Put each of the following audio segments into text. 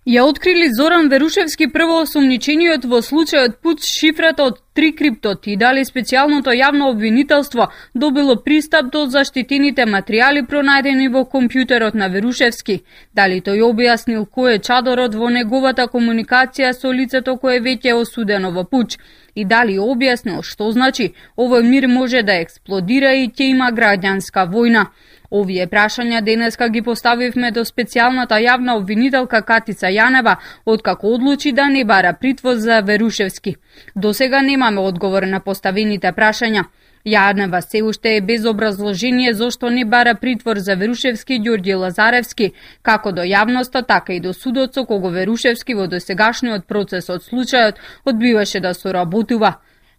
Ја открили Зоран Верушевски првоосомничениот во случајот Пуч шифрата од Трикриптот и дали специјалното јавно обвинителство добило пристап до заштитените материјали пронајдени во компјутерот на Верушевски. Дали тој објаснил кој е чадорот во неговата комуникација со лицето кое веќе е осудено во Пуч и дали објаснил што значи овој мир може да експлодира и ќе има граѓанска војна. Овие прашања денеска ги поставивме до специјалната јавна обвинителка Катица Јанева, откако одлучи да не бара притвор за Верушевски. Досега немаме одговор на поставените прашања. Јанева се уште е без образложение зошто не бара притвор за Верушевски и Ѓорѓе Лазаревски, како до јавноста, така и до судот со кого Верушевски во досегашниот процес од случајот одбиваше да соработува.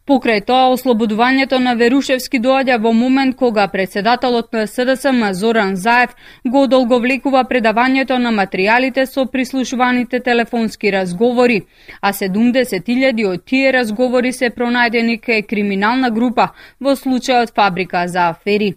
Покрај тоа, ослободувањето на Верушевски доаѓа во момент кога председателот на СДСМ Зоран Заев го одолговлекува предавањето на материјалите со прислушуваните телефонски разговори, а 70.000 од тие разговори се пронајдени кај криминална група во случајот Фабрика за афери.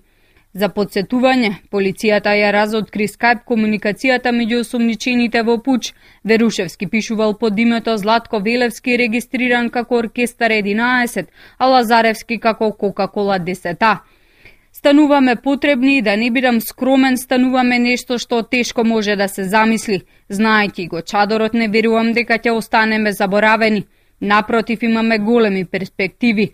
За подсетување, полицијата ја разоткри скајп комуникацијата меѓу осомничените во Пуч. Верушевски пишувал под името Златко Велевски, регистриран како Оркестар 11, а Лазаревски како Кока-Кола 10. Стануваме потребни и да не бидам скромен, стануваме нешто што тешко може да се замисли. Знаејќи го чадорот, не верувам дека ќе останеме заборавени. Напротив, имаме големи перспективи,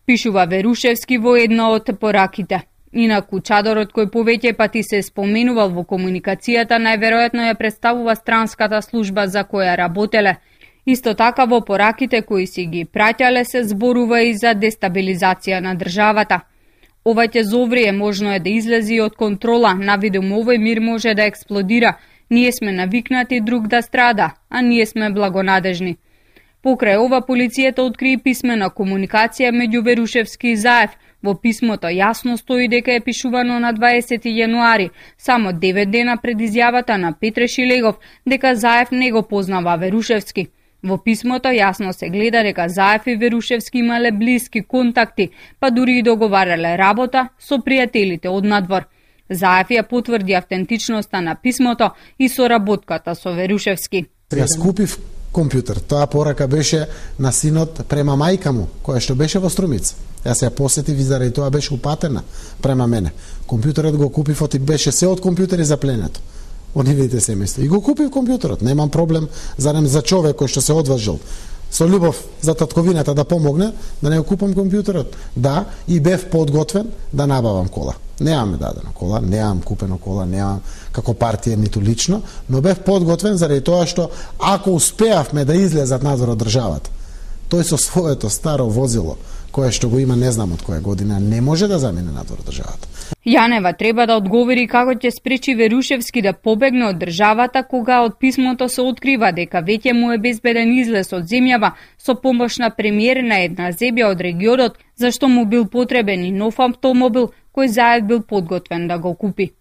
пишува Верушевски во една од пораките. Инаку чадорот кој повеќе пати се споменувал во комуникацијата најверојатно ја представува странската служба за која работеле. Исто така во пораките кои си ги праќале се зборува и за дестабилизација на државата. Ова ќе зоврие, можно е да излези од контрола, навидум овој мир може да експлодира. Ние сме навикнати друг да страда, а ние сме благонадежни. Покрај ова, полицијата откри писмена комуникација меѓу Верушевски и Заев. Во писмото јасно стои дека е пишувано на 20 јануари, само 9 дена пред изјавата на Петре Шилегов, дека Заев не го познава Верушевски. Во писмото јасно се гледа дека Заев и Верушевски имале блиски контакти, па дури и договарале работа со пријателите од надвор. Заев ја потврди автентичноста на писмото и соработката со Верушевски. Јас купив компјутер. Тоа порака беше на синот према мајка му, која што беше во Струмица. Јас ја посетив и заради тоа беше упатена према мене. Компјутерот го купив, и беше се од компјутери запленето од нивните семејства. И го купив компјутерот. Немам проблем за човек кој што се одважил со љубов за татковината да помогне, да не го купам компјутерот. Да, и бев подготвен да набавам кола. Немаме дадено кола, немам купено кола, немам како партија ниту лично, но бев подготвен заради тоа што ако успеавме да излезат надвор од државата, тој со своето старо возило, кое што го има не знам од која година, не може да замине надвор од државата. Јанева треба да одговори како ќе спречи Верушевски да побегне од државата кога од писмото се открива дека веќе му е безбеден излез од земјава со помош на премиер на една земја од регионот, зашто му бил потребен и нов автомобил кој Заев бил подготвен да го купи.